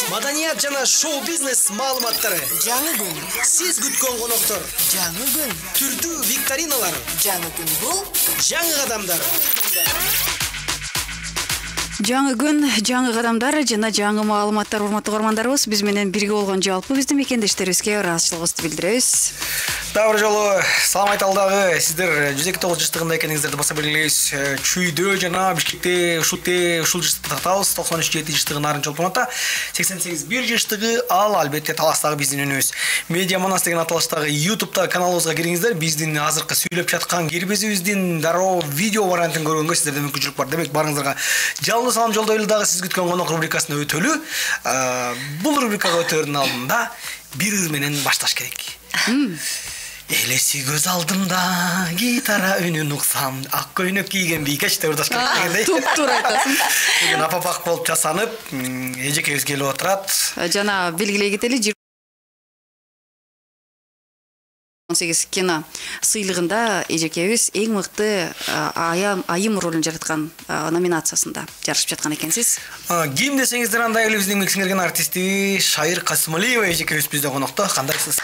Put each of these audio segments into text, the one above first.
Маданият жана шоу-бизнес маалыматтары. Жаңы күн. Сиз күткөн коноктор. Жаңы күн. Түрдүү викториналар. Жаңы күн бул. Жаңы кадамдар. Жаңы күн, жаңы кадамдар жана жаңы маалыматтар. Урматтуу көрөрмандарыбыз, биз менен бирге болгон жалпы биздин мекендештерибизге ыраазычылыгыбызды билдиребиз. Дагы бир жолу салам айталы дагы. Сиздер 129 жаштыгында экениңиздерди баса белгилейбиз. Чүйдө жана Бишкекте ушул жаштыкта татабыз. 93-7 жаштыгы Нарын Чолпоновто, 88-1 жаштыгы ал албетте Таластагы биздин үнүбүз. Медиа Манас деген аталыштагы YouTube каналыбызга кириңиздер. Биздин азыркы сүйлөп жаткан кирбезибиздин дароо видео вариантын көргөнгө сиздерде мүмкүнчүлүк бар. Демек барыңыздарга жалпы салам жолдойлу дагы сиз күткөн конок рубрикасына өтөлү. Бул рубрикага өтөрдүн алдында бир ыр менен башташ керек. Элеси көз алдымда гитара үнүн уксам, ак көйнөк кийген бийкеш деп ырдаш керек дегендей. Туп-туура айтасың. Бүгүн апапак болуп жасанып, эжекебиз келип отурат. Жана белгилей кетели 18 кино сыйлыгында эжекебиз эң мыкты айым ролун жараткан номинациясында жарышып жаткан экенсиз. Ким десеңиздер анда эле биздин сиңирген артисти Шайыр Касымалиева эжекебиз bizde конокто. Кандайсыз?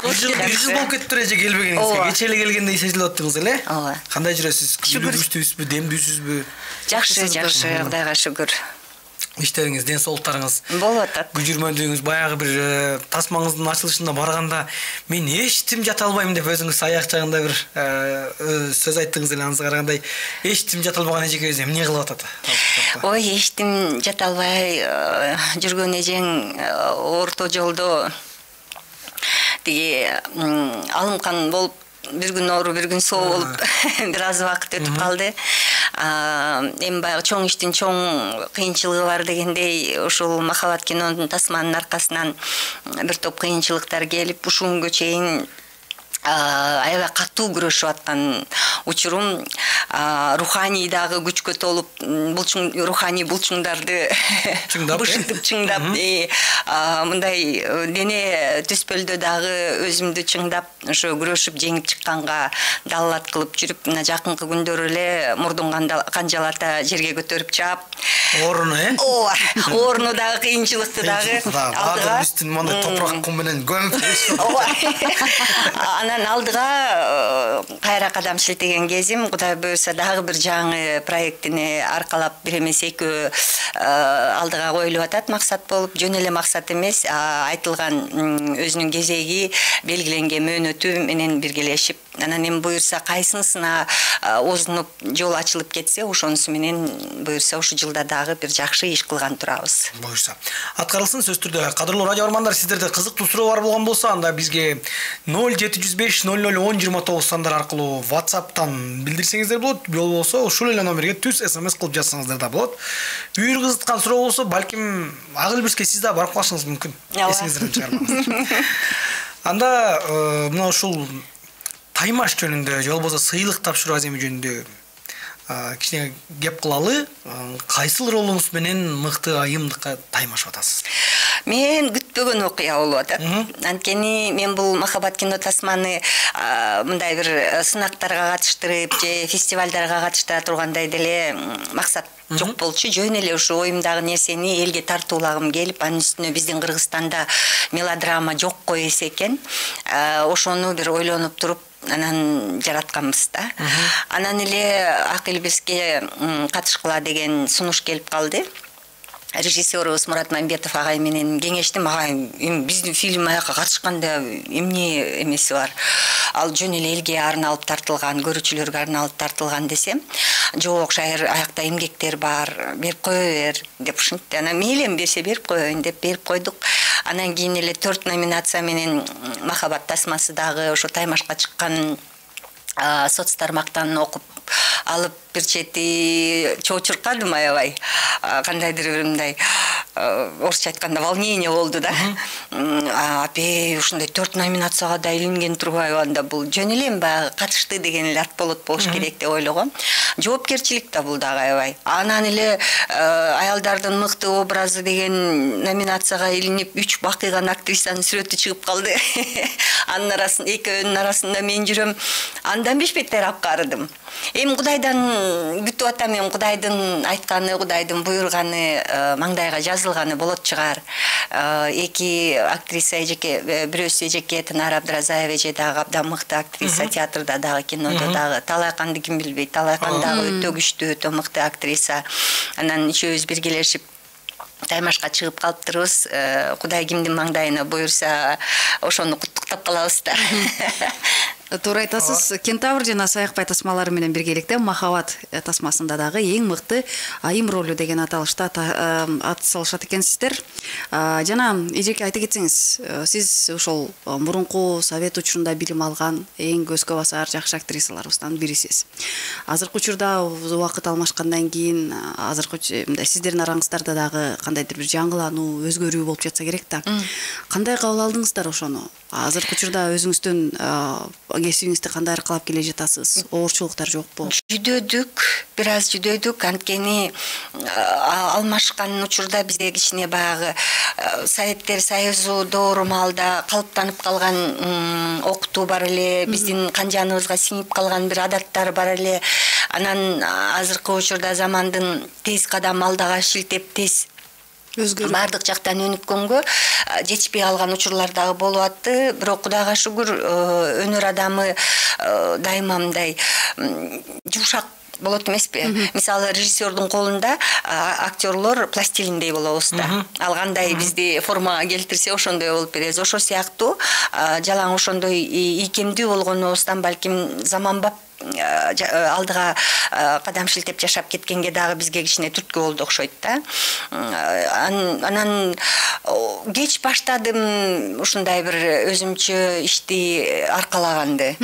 Жүз болуп кетиптир эже келбегениңизге. Кече эле келгендей сезилип аттыңыз эле. Ооба. Кандай жүрөсүз? Күчтүүсүзбү, демдүүсүзбү? Жакшы, Кудайга шүгүр. Иштериңиз, ден соолуктарыңыз болуп атат. Күжүрмөдүңүз баягы бир тасмаңыздын ачылышына барганда мен эчтим жата албайм деп өзүңүз аяк жагында бир сөз айттыңыз эле, аныңызга карагандай эчтим жата албаган эжекебиз эмне кылып атат? Ой, эчтим жата албай жүргөн эжең орто жолдо тиги алымкан болуп бир күн оору, бир күн соо болуп бир аз убакыт өтүп калды. Эми баягы чоң иштин чоң кыйынчылыгы бар дегендей, ушул Махаббат кинонун тасманын аркасынан бир топ кыйынчылыктар келип, ушул күнгө чейин аябай катуу күрөшүп аткан учурум, руханий дагы күчкө толуп, руханий булчуңдарды бушинтип чыңдап, мындай дене түспөлдө дагы өзүмдү чыңдап, ошо күрөшүп жеңип чыкканга далалат кылып жүрүп, мына жакынкы күндөр эле мурдун канжалата жерге көтөрүп чаап, орну, ооба, орну дагы кыйынчылыкты дагы алдыга үстүн мондай топурак кум менен көмүп, анан алдыга кайра кадам шилтеген кезим, Кудай буйруса дагы бир жаңы проектини аркалап бир эмес экөө алдыга коюлуп атат, максат болуп, жөн эле максат эмес, айтылган өзүнүн кезеги, белгиленген мөөнөтү менен биргелешип, анан эми буйруса кайсынысына озунуп жол ачылып кетсе, ошонусу менен буйруса ушу жылда дагы бир жакшы иш кылган турабыз. Буйруса. Аткарылсын сөз түрдө. Кадырлуу радио көрөрмандар, сиздерде кызыктуу суроо бар болгон болсо, анда бизге 0705 00 10 29 сандар аркылуу WhatsApp'тан билдирсеңиздер болот. Болбосо ушул эле номерге түз SMS кылып жазсаңыздар да болот. Үйүр кызыткан суроо болсо, балким Агылбирске сиз да барып калышыңыз мүмкүн. Эсиңизден чыгармаңыз. Анда мына ушул таймаш жөнүндө, же болбосо сыйлык тапшыруу аземи жөнүндө кичине кеп кылалы. Кайсыл ролуңуз менен мыкты айымдыкка таймашып атасыз? Мен күтпөгөн окуя болуп атат. Анткени мен бул Махаббат кино тасманы мындай бир сынактарга катыштырып, же фестивалдарга катыштыра тургандай деле максат жок болчу. Жөн эле ушу оюмдагы нерсени элге тартуулагым келип, анын үстүнө биздин Кыргызстанда мелодрама жокко эсекен. Ошону бир ойлонуп туруп, анан жаратканбыз да. Анан эле Акылбирске катышкыла деген сунуш келип калды. Режиссерубуз Мурат Мамбетов агай менен кеңештим. Агай, биздин фильм аяка катышканда эмне эмеси бар? Ал жөн эле элге арналып тартылган, көрүүчүлөргө арналып тартылган десем, жок, Шайыр, аякта эмгектер бар, берип кое бер деп ушинтти. Анан мейлем берсе берип коеюн деп берип койдук. Анан кийин эле 4 номинация менен Махаббат тасмасы дагы ошо таймашка чыккан соц тармактан окуп алып, бир чети чоочуркадым аябай. Кандайдыр бир мындай орусча айтканда волнение болду да. Апе ушундай 4 номинацияга да илинген турбайбы, анда бул жөн эле баягы катышты деген эле ат болот болуш керек деп ойлогом. Жоопкерчилик да бул дагы аябай. Анан эле аялдардын мыкты образы деген номинацияга илинип 3 бакыйган актрисанын сүрөтү чыгып калды. Анын арасында экөөнүн арасында мен жүрөм. Андан бешбеттер апкарыдым. Эми Кудайдан күтүп атам, эми Кудайдын айтканы, Кудайдын буйруганы маңдайга жазылганы болот чыгар. Эки актриса эжеке, бирөөсү эжеке Тынар Абдыразаева эже дагы абдан мыкты актриса, театрда дагы, кинодо дагы. Талайканды ким билбейт, Талайкан дагы өтө күчтүү, өтө мыкты актриса. Анан үчөөбүз биргелешип таймашка чыгып калыптырбыз. Кудай кимдин маңдайына буйруса, ошону куттуктап калабыз да. Туура айтасыз. Кентавр жана Саякбай тасмалары менен биргеликте Махабат тасмасында дагы эң мыкты айым ролу деген аталышта ат салышат экенсиздер. Жана эжеке айта кетсеңиз, сиз ошол мурунку совет учурунда билим алган эң көзгө басар жакшы актрисаларыбыздан бирисиз. Азыркы учурда убакыт алмашкандан кийин азыркы сиздердин араңыздарда дагы кандайдыр бир жаңылануу, өзгөрүү болуп жатса керек да. Кандай кабыл алдыңыздар ошону? Азыркы учурда өзүңүздүн кесибиңизди кандай аркалап келе жатасыз? Оорчулуктар жокпу? Жүдөдүк, бир аз жүдөдүк. Анткени алмашкан учурда бизде кичине баягы Советтер Союзу доору маалда калыптанып калган окутуу бар эле, биздин канжаныбызга сиңип калган бир адаттар бар эле. Анан азыркы учурда замандын тез кадам алдага шилтеп тез бардык жактан өнүккөнгө жетишпей калган учурлар дагы болуп атты. Бирок Кудайга шүгүр, өнөр адамы дайыма мындай жумшак болот эмеспи? Мисалы, режиссердун колунда актерлор пластилиндей болобуз да. Ал кандай бизди формага келтирсе, ошондой болуп беребиз. Ошо сыяктуу жалаң ошондой ийкемдүү болгонубуздан балким заманбап алдыга кадам шилтеп жашап кеткенге дагы бизге кичине түрткү болду окшойт да. Анан кеч баштадым ушундай бир өзүмчө ишти аркалаганды.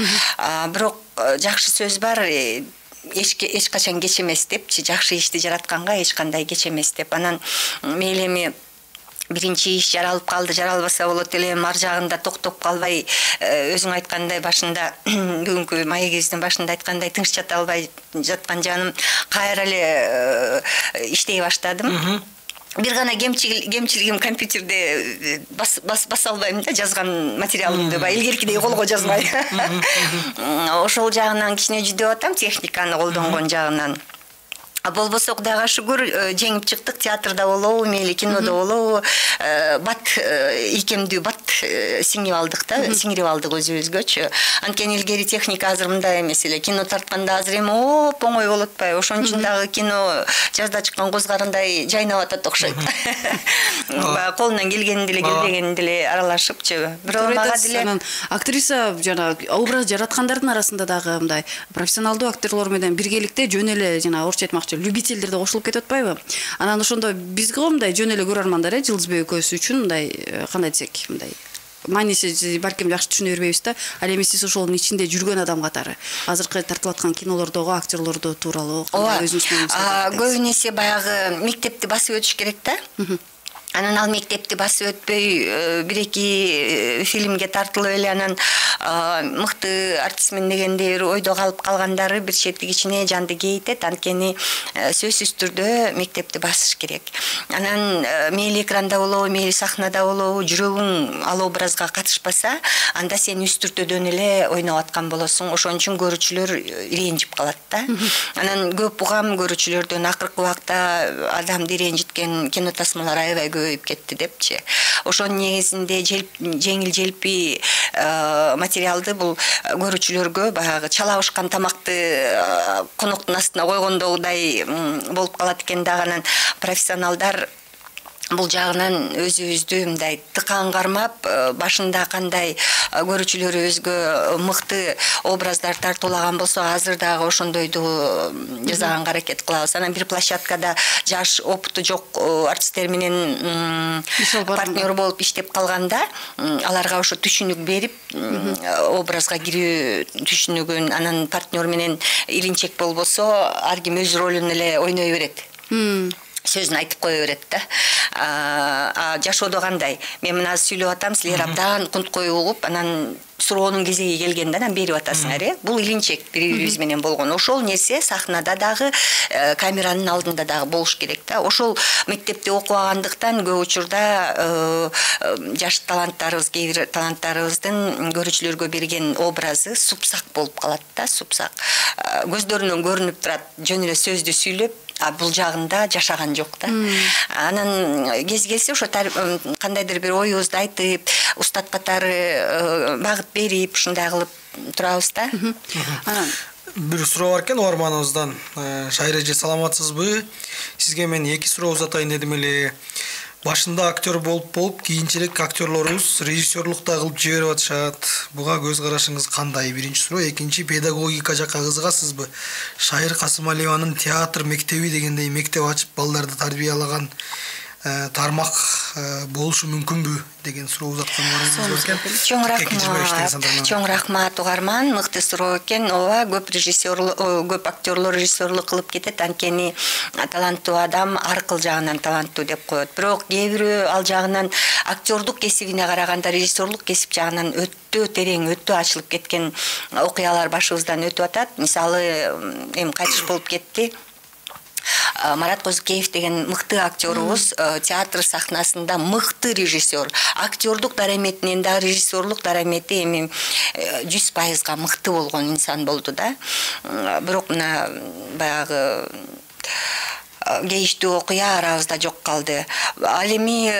Бирок жакшы сөз бар, эч качан кеч эмес депчи, жакшы ишти жаратканга эч кандай кеч эмес деп. Анан мейли эми биринчи иш жаралып калды, жаралбаса болот эле, ар жагында токтоп калбай, өзүң айткандай башында, бүгүнкү маегибиздин башында айткандай, тынч жата албай жаткан жаным кайра эле иштей баштадым. Бир гана кемчилигим компьютерде баса албайм да, жазган материалымды илгеркидей колго жазбай. Ошол жагынан кичине жүдөп атам, техниканы колдонгон жагынан. Болбосо Кудайга шүгүр жеңип чыктык, театрда болобу, мейли кинодо болобу, бат ийкемдүү бат сиңип алдык да, сиңирип алдык өзүбүзгөчү. Анткени илгери техника азыр мындай эмес эле, кино тартканда азыр эми оңой болот атпайбы? Ошон үчүн дагы кино жазда чыккан козгарындай жайнап атат окшойт. Колунан келгенинде эле, келбегенинде эле аралашыпчы. Бирок мага деле актриса жана образ жараткандардын арасында дагы мындай профессионалдуу актерлор менен биргеликте жөн эле жана орусча айтмакчы любительдер да кошулуп кетип атпайбы? Анан ошондо бизге мындай жөн эле көрөрмандар, Жылдызбек экөөсү үчүн мындай кандай десек, мындай мааниси балким жакшы түшүнө бербейбиз да. Ал эми сиз ошонун ичинде жүргөн адам катары азыркы тартылып аткан кинолордогу актерлорду тууралуу кандай өзүңүз менен көбүнесе баягы мектепти басып өтүш керек да. Анан ал мектепти басып өтпөй бир-эки фильмге тартылып эле анан мыкты артистмин дегендей бир ойдо калып калгандары бир чети кичине жанды кейитет. Анткени сөзсүз түрдө мектепти басыш керек. Анан мейли экранда болобу, мейли сахнада болобу, жүрөгүң ал образга катышпаса, анда сен үстүртөдөн эле ойноп аткан болосуң. Ошон үчүн көрүүчүлөр ренжип калат да. Анан көп угам көрүүчүлөрдөн акыркы убакта адамды ренжиткен кино тасмалар аябай көбөйүп кетти депчи. Ошонун негизинде жеңил желпи материалды бул көрүүчүлөргө баягы чалабышкан тамакты коноктун астына койгондогудай болуп калат экен да. Анан профессионалдар бул жагынан өзүбүздү мындай тыкан кармап, башында кандай көрүүчүлөрүбүзгө мыкты образдар тартуулаган болсо, азыр дагы ошондойду жасаганга аракет кылабыз. Анан бир площадкада жаш опыту жок артисттер менен партнер болуп иштеп калганда, аларга ошо түшүнүк берип, образга кирүү түшүнүгүн, анан партнер менен илинчек болбосо, ар ким өз ролун эле ойной берет. Сөзүн айтып кое берет да. Жашоодо кандай? Мен мына сүйлөп атам, силер абдан кунткой угуп, анан суроонун кезеги келгенде анан берип атасыңар, Бул илинчек бири-бирибиз менен болгон. Ошол нерсе сахнада дагы, камеранын алдында дагы болуш керек да. Ошол мектепте окубагандыктан көп учурда жаш таланттарыбыз, кээ бир таланттарыбыздын көрүүчүлөргө берген образы супсак болуп калат да, супсак. Көздөрүнөн көрүнүп турат, жөн эле сөздү сүйлөп, бул жагында жашаган жок да. Анан кез келсе ошо кандайдыр бир оюбузду айтып, устат катары багыт берип, ушундай кылып турабыз да. Анан бир суроо бар экен угарманыбыздан. Шайыр эже, саламатсызбы? Сизге мен 2 суроо узатайын дедим эле. Башында актер болуп, кийинчерээк актерлорубуз режиссерлук да кылып жиберип атышат. Буга көз карашыңыз кандай? Биринчи суроо. Экинчи, педагогика жакка кызыгасызбы? Шайыр Касымалиеванын театр мектеби дегендей мектеп ачып балдарды тарбиялаган тармак болушу мүмкүнбү деген суроо узатканыңыз бар экен. Чоң рахмат угарман, мыкты суроо экен. Ооба, көп актерлор режиссерлук кылып кетет, анткени таланттуу адам ар кыл жагынан таланттуу деп коет. Бирок кээ бирөө ал жагынан актердук кесибине караганда режиссерлук кесип жагынан өтө терең, өтө ачылып кеткен окуялар башыбыздан өтүп атат. Мисалы, эми кайтыш болуп кетти. Марат Козукеев деген мыкты актерубуз, театр сахнасында мыкты режиссер. Актердук дараметинен да режиссерлук дарамети эми 100% мыкты болгон инсан болду да. Бирок мына баягы кейиштүү окуя арабызда жок калды. Ал эми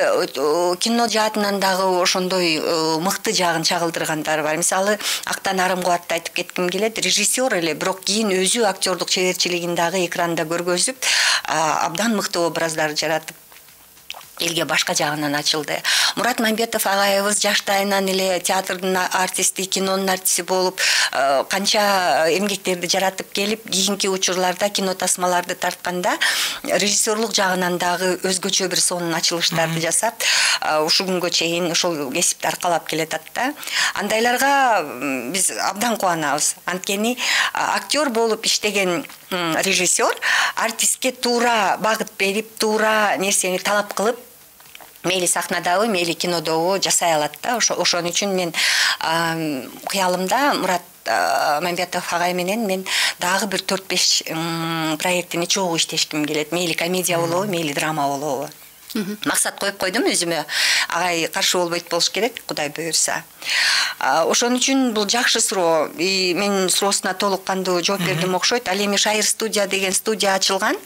кино жаатынан дагы ошондой мыкты жагын чагылдыргандар бар. Мисалы, Актан Арымкубатты айтып кетким келет. Режиссер эле, бирок кийин өзү актердук чеберчилигин дагы экранда көргөзүп, абдан мыкты образдар жаратып элге башка жагынан ачылды. Мурат Мамбетов агайыбыз жаштайынан эле театрдын артисти, кинонун артисти болуп, канча эмгектерди жаратып келип, кийинки учурларда кино тасмаларды тартканда режиссерлук жагынан дагы өзгөчө бир сонун ачылыштарды жасап, ушул күнгө чейин ошол кесипти аркалап келатат да. Андайларга биз абдан кубанабыз. Анткени актер болуп иштеген режиссер артистке туура багыт берип, туура нерсени талап кылып, мейли сахнадабы, мейли кинодобу жасай алат да. Ошон үчүн мен кыялымда Мурат Мамбетов агай менен мен дагы бир 4-5 проекттини чогуу иштешким келет. Мейли комедия болобу, мейли драма болобу. Максат коюп койдум өзүмө. Агай каршы болбойт болуш керек, Кудай буйрса. Ошон үчүн бул жакшы суроо. Мен суроосуна толук кандуу жооп бердим окшойт. Ал эми Шайыр студия деген студия ачылган.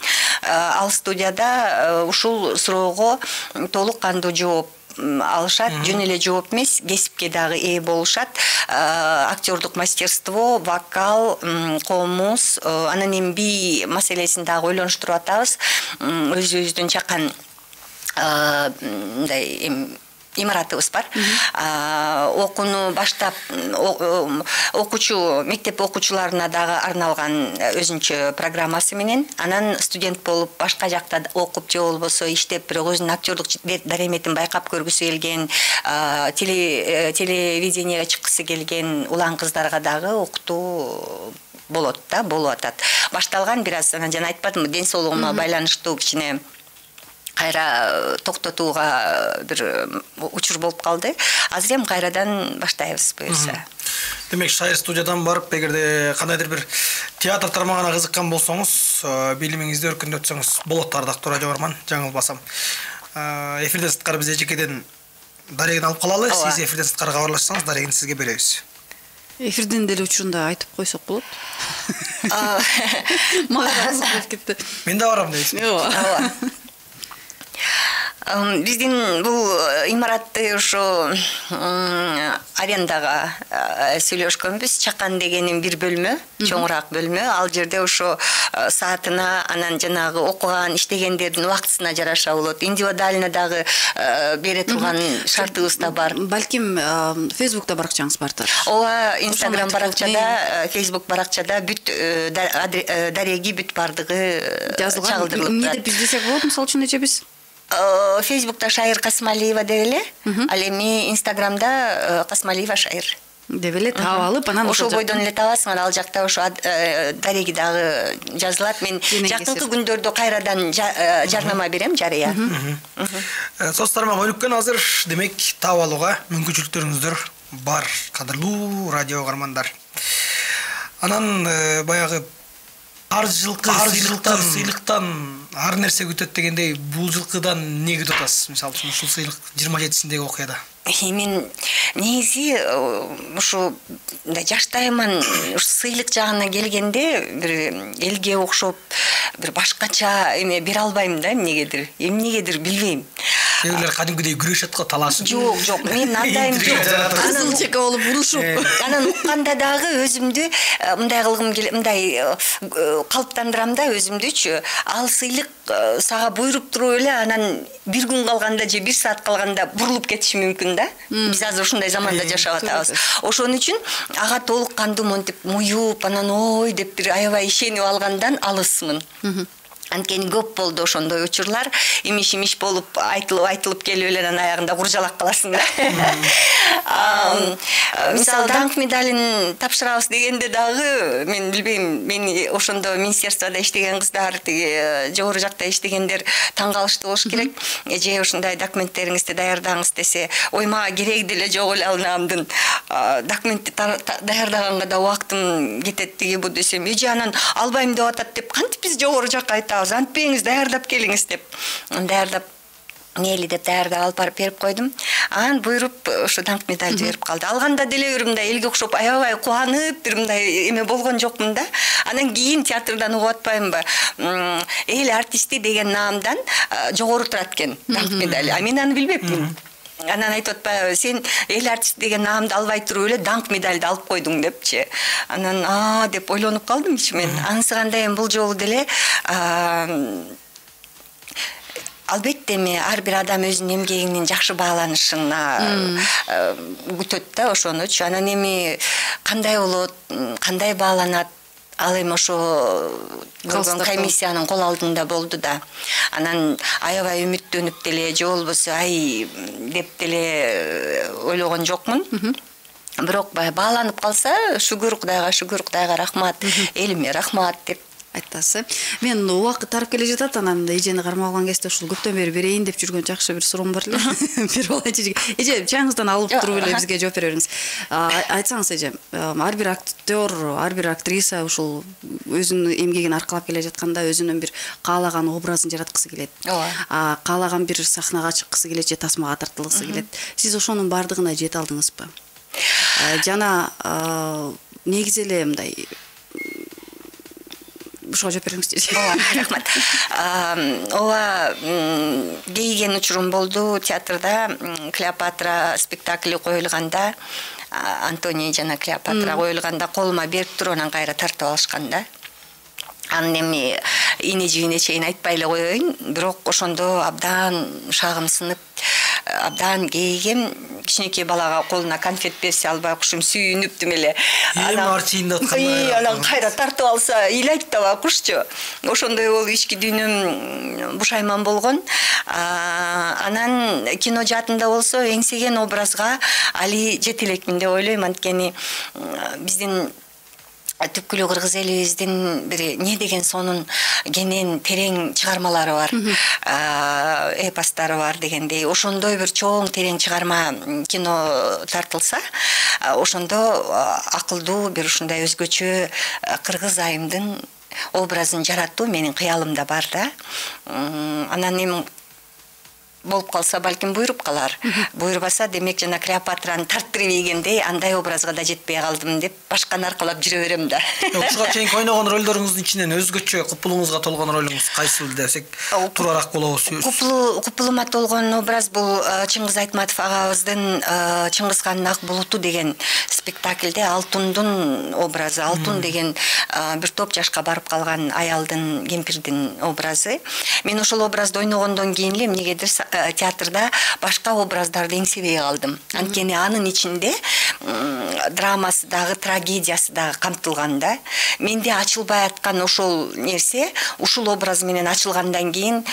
Ал студияда ушул суроого толук кандуу жооп алышат, жөн эле жооп эмес, кесипке дагы ээ болушат. Актердук мастерство, вокал, комуз, анан эми би маселесин дагы ойлонуштуруп атабыз. Өзүбүздүн жакан мындай имаратыбыз бар. Окууну баштап окуучу, мектеп окуучуларына дагы арналган өзүнчө программасы менен, анан студент болуп башка жакта окуп же болбосо иштеп, бирок өзүнүн актердук дараметин байкап көргүсү келген, телевиденияга чыккысы келген улан кыздарга дагы окутуу болот да, болуп атат. Башталган бир аз, анан жана айтпадымбы, ден соолугума байланыштуу кичине кайра токтотууга бир учур болуп калды. Азыр эми кайрадан баштайбыз буюрса. Демек, Шайыр студиядан барып, эгерде кандайдыр бир театр тармагына кызыккан болсоңуз, билимиңизди өркүндөтсөңүз болот. Ардактуу радио барман, жаңылбасам. Эфирден сырткары биз эжекеден дарегин алып калалы. Сиз эфирден сырткары кабарлашсаңыз, дарегини сизге беребиз. Эфирден деле учурунда айтып койсок болот. Мага кызык болуп кетти. Мен да барам дейсиз. Ооба. Биздин бул имаратты ошо арендага сүйлөшкөнбүз. Чакан дегенин бир бөлмө, чоңураак бөлмө. Ал жерде ошо саатына, анан жанагы окуган, иштегендердин убактысына жараша болот. Индивидуально дагы бере турган шартыбыз да бар. Балким Facebook'та баракчаңыз бардыр. Ооба, Instagram баракчада, Facebook баракчада бүт дареги бүт бардыгы чагылдырылып турат. Эмне деп издесек болот, мисалы үчүн эчебиз? Facebook'та Шайыр Касымалиева деп эле, ал эми Instagram'да Касымалиева Шайыр. деп эле таап алып, анан ошол бойдон эле табасың, ал жакта ошо дареги дагы жазылат. Мен жакынкы күндөрдө кайрадан жарнама берем, жарыя. Соц тармагы өнүккөн азыр, демек таап алууга мүмкүнчүлүктөрүңүздөр бар, кадырлуу радио угармандар. Анан баягы ар жылкы сыйлыктан ар нерсе күтөт дегендей, бул жылкыдан эмне күтүп атасыз? Мисалы үчүн ушул сыйлык 27-синдеги окуяда. Мен негизи ушу жаштайман, сыйлык жагына келгенде бир элге окшоп бир башкача эме бере албайм да, эмнегедир билбейм. Кээбирлер кадимкидей күрөшөт го, талашып. Жок, мен андайым жок. Кызыл чека болуп урушуп. Анан укканда дагы өзүмдү мындай кылгым келет, мындай калыптандырам да өзүмдүчү. Ал сыйлык сага буйруп туруп эле, анан бир күн калганда же бир саат калганда бурулуп кетиши мүмкүн да. Биз азыр ушундай заманда жашап атабыз. Ошон үчүн ага толук кандуу монтип муюп, анан ой деп бир аябай ишенип алгандан алысмын. Анткени көп болду ошондой учурлар, имиш болуп айтылып келип эле анан аягында куржалак каласың да. Мисалы, даңк медалин тапшырабыз дегенде дагы мен билбейм, мени ошондо министерстводо иштеген кыздар, тиги жогору жакта иштегендер таң калышты болуш керек. Же ушундай документтериңизди даярдаңыз десе, ой, мага кереги деле жок эле алнамдын. Документти даярдаганга да убактым кетет тиги бу десем, же анан албайм деп атат деп кантип биз жогору жакка айтабыз, антпеңиз, даярдап келиңиз деп. Даярдап мейли деп даярдап алып барып берип койдум. Анан буйруп ушу даңк медаль берип калды. Алганда деле бир мындай элге окшоп аябай кубанып, бир мындай эме болгон жокмун да. Анан кийин театрдан угуп атпаймынбы? Эл артисти деген наамдан жогору турат экен даңк медаль. А мен аны билбепмин. Анан айтып атпайбы, сен эл артист деген наамды албай туруп эле даңк медальды алып койдуң депчи. Анан деп ойлонуп калдым ичимен. Анысы кандай эми бул жолу деле албетте эми ар бир адам өзүнүн эмгегинин жакшы бааланышына күтөт да ошонучу. Анан эми кандай болот, кандай бааланат, ал эми ошо көргөн комиссиянын кол алдында болду да. Анан аябай үмүттөнүп деле, же болбосо ай деп деле ойлогон жокмун. Бирок бааланып калса, шүгүр Кудайга рахмат, элиме рахмат деп айтасыз. Мен убакыт тарып келе жатат, анан эжени кармап алган кезде ушул көптөн бери берейин деп жүргөн жакшы бир суроом бар эле. Бир бала эже чаңыздан алып туруп эле бизге жооп бере бериңиз. Айтсаңыз эже, ар бир актер, ар бир актриса ушул өзүнүн эмгегин аркалап келе жатканда өзүнүн бир каалаган образын жараткысы келет. Каалаган бир сахнага чыккысы келет же тасмага тартылгысы келет. Сиз ошонун бардыгына жете алдыңызбы? Жана негизи эле мындай ушуга жооп бериңизчи. Рахмат. Ооба, кейген учурум болду театрда. Клеопатра спектакли коюлганда, Антоний жана Клеопатра коюлганда колума берип туруп анан кайра тартып алышкан да. Анын эми ине жибине чейин айтпай эле коеюн, бирок ошондо абдан шагым сынып, абдан кейгем. Кичинекей балага колуна конфет берсе албай кушум сүйүнүптүм эле. Анан кайра тартып алса ыйлайт да кушчу. Ошондой болуп ички дүйнөм бушайман болгон. Анан кино жаатында болсо эңсеген образга али жете элекмин деп ойлойм. Анткени биздин түпкүлүү кыргыз элибиздин бир не деген сонун кенен терең чыгармалары бар, эпостары бар дегендей. Ошондой бир чоң терең чыгарма кино тартылса, ошондо акылдуу бир ушундай өзгөчө кыргыз айымдын образын жаратуу менин кыялымда бар да. Анан эми болуп калса балким буйруп калар. Буйрубаса демек жана Клеопатраны тарттырып ийгендей андай образга да жетпей калдым деп башканы аркалап жүрө берем да. Ушуга чейин ойногон ролдоруңуздун ичинен өзгөчө купулуңузга толгон ролуңуз кайсыл десек туурараак болобуз. Купулума толгон образ бул Чыңгыз Айтматов агабыздын Чыңгыз хандын ак булуту деген спектакльде Алтундун образы, Алтун деген бир топ жашка барып калган аялдын, кемпирдин образы. Мен ошол образды ойногондон кийин эле эмнегедир театрда башка образдарды эңсебей калдым. Анткени анын ичинде драмасы дагы, трагедиясы дагы камтылган да. Менде ачылбай аткан ошол нерсе ушул образ менен ачылгандан кийин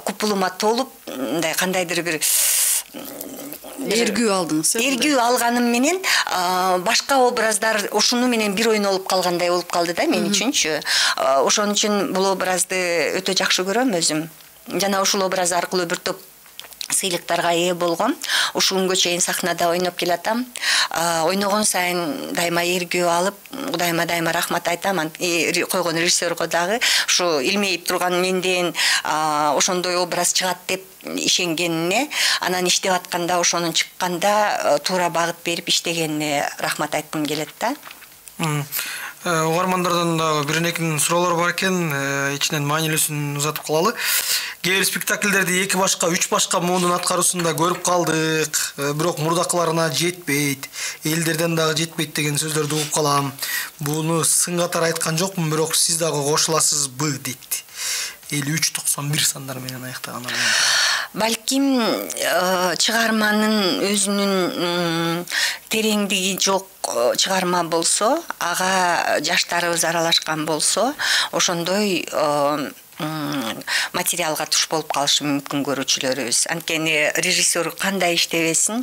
купулума толуп, мындай кандайдыр бир эргүү алдыңыз. Эргүү алганым менен башка образдар ушуну менен бир ойнолуп калгандай болуп калды да мен үчүнчү. Ошон үчүн бул образды өтө жакшы көрөм өзүм. Жана ушул образ аркылуу бир топ сыйлыктарга ээ болгом. Ушул күнгө чейин сахнада ойноп келатам. Ойногон сайын дайыма эргүү алып, Кудайыма дайыма рахмат айтам. Койгон режиссерго дагы ушу илмейип турган менден ошондой образ чыгат деп ишенгенине, анан иштеп атканда ошонун чыкканда туура багыт берип иштегенине рахмат айткым келет да. Угармандардан да бир-экинин суроолору бар экен, ичинен маанилүүсүн узатып калалы. Кээ бир спектакльдерди 2 башка, 3 башка муундун аткаруусунда көрүп калдык, бирок мурдакыларына жетпейт, элдерден дагы жетпейт деген сөздөрдү угуп калам. Буну сын катары айткан жокмун, бирок сиз дагы кошуласызбы дейт. 53-91 сандар менен аяктаган. Балким чыгарманын өзүнүн тереңдиги жок чыгарма болсо, ага жаштарыбыз аралашкан болсо, ошондой материалга туш болуп калышы мүмкүн көрүүчүлөрүбүз. Анткени режиссер кандай иштебесин,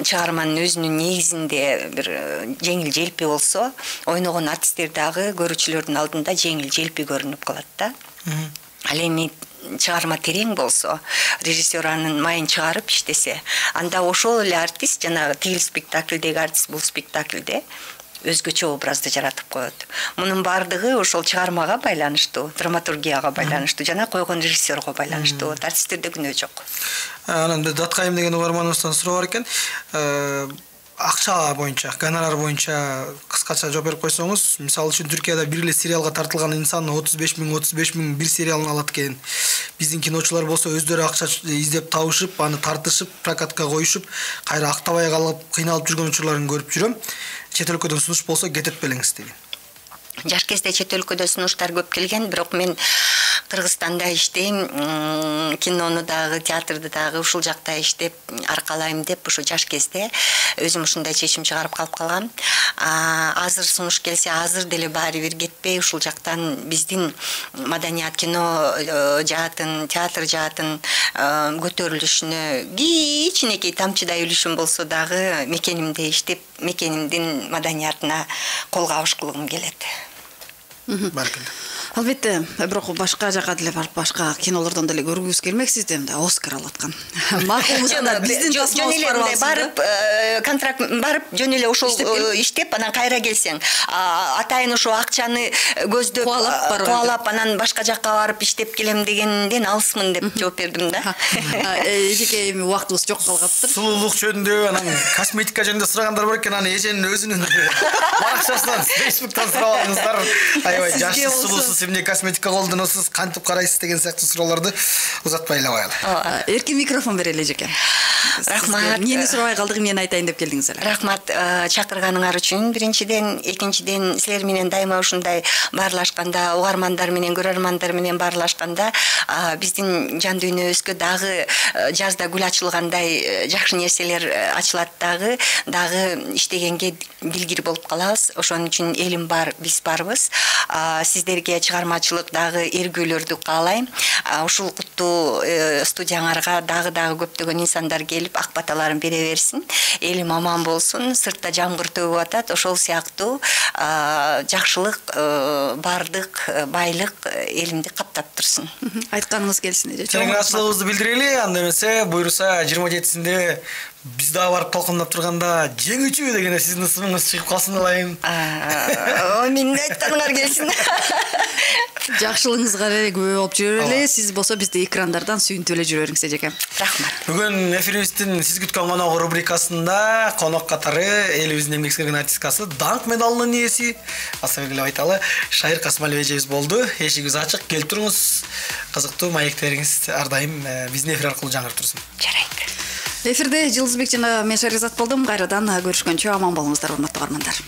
чыгарманын өзүнүн негизинде бир жеңил желпи болсо, ойногон артисттер дагы көрүүчүлөрдүн алдында жеңил желпи көрүнүп калат да. Ал эми чыгарма терең болсо, режиссер анын майын чыгарып иштесе, анда ошол эле артист жанагы тигил спектакльдеги артист бул спектакльде өзгөчө образды жаратып коет. Мунун бардыгы ошол чыгармага байланыштуу, драматургияга байланыштуу жана койгон режиссерго байланыштуу. Артисттерде күнөө жок. Анан Даткайым деген угарманыбыздан суроо бар экен. Акча боюнча, гонорар боюнча кыскача жооп берип койсоңуз, мисалы үчүн Түркияда бир эле сериалга тартылган инсан 35 000 бир сериалын алат экен. Биздин киночулар болсо өздөрү акча издеп табышып, аны тартышып, прокатка коюшуп, кайра актабай калып, кыйналып жүргөн учурларын көрүп жүрөм. Чет өлкөдөн сунуш болсо кетет белеңиз деген. Жаш кезде чет өлкөдө сунуштар көп келген, бирок мен Кыргызстанда иштейм, кинону дагы, театрды дагы ушул жакта иштеп аркалайм деп ушу жаш кезде өзүм ушундай чечим чыгарып калып калгам. Азыр сунуш келсе, азыр деле баары бир кетпей ушул жактан биздин маданият, кино жаатын, театр жаатын көтөрүлүшүнө кичинекей тамчыдай үлүшүм болсо дагы мекенимде иштеп, мекенимдин маданиятына кол кабыш кылгым келет. Баркында. Албетте, бирок башка жака деле барып, башка кинолордон деле көргүбүз келмек, сизде да Оскар алаткан. Макулмусанда биздин тасмалыбыз барып, контракт барып, жөн эле ошол иштеп, анан кайра келсең, атайын ошо акчаны көздөп, кубалап, анан башка жакка барып иштеп келем дегенден алысмын деп жооп бердим да. Эжеке эми убактыбыз жок калгаптыр. Сулуулук жөнүндө, анан косметика жөнүндө сурагандар бар экен, аны эженин өзүнүн баракчасынан, Facebooктан сурабаңыздар. Аябай жашсыз, сулуусуз эмне косметика колдоносуз, кантип карайсыз деген сыяктуу суроолорду узатпай эле коелу. Эркин микрофон берели эжеке. Рахмат. Эмнени сурабай калдык, эмнени айтайын деп келдиңиз эле. Рахмат чакырганыңар үчүн. Биринчиден, экинчиден, силер менен дайыма ушундай баарлашканда, угармандар менен, көрөрмандар менен баарлашканда, биздин жан дүйнөбүзгө дагы жазда гүл ачылгандай жакшы нерселер ачылат дагы иштегенге дилгир болуп калабыз. Ошон үчүн элим бар, биз барбыз. Сиздерге чыгармачылык дагы эргүүлөрдү каалайм. Ушул куттуу студияңарга дагы көптөгөн инсандар келип ак баталарын бере берсин. Элим аман болсун, сыртта жамгыр төгүп атат. Ошол сыяктуу жакшылык, бардык, байлык элимди каптап турсун. Айтканыңыз келсин эже. Чаңгырачылыгыбызды билдирели, анда эмесе буйруса 27-синде биз дагы барып толкундап турганда жеңүүчү деген сиздин ысымыңыз чыгып калсын алайын. Менин айтканыңар келсин. Жакшылыгыңызга эле күбө болуп жүрөлү. Сиз болсо бизди экрандардан сүйүнтүп эле жүрө бериңиз эжеке. Рахмат. Бүгүн эфирибиздин сиз күткөн конок рубрикасында конок катары элибиздин эмгек сиңирген артисткасы, даңк медалынын ээси, асабек эле айталы, Шайыр Касымалиева эжебиз болду. Эшигибиз ачык, келип туруңуз. Кызыктуу маектериңиз ар дайым биздин эфир аркылуу жаңырып турсун. Жарайт. Эфирде Жылдызбек жана мен Шаризат болдум. Кайрадан көрүшкөнчө аман болуңуздар, урматтуу угармандар.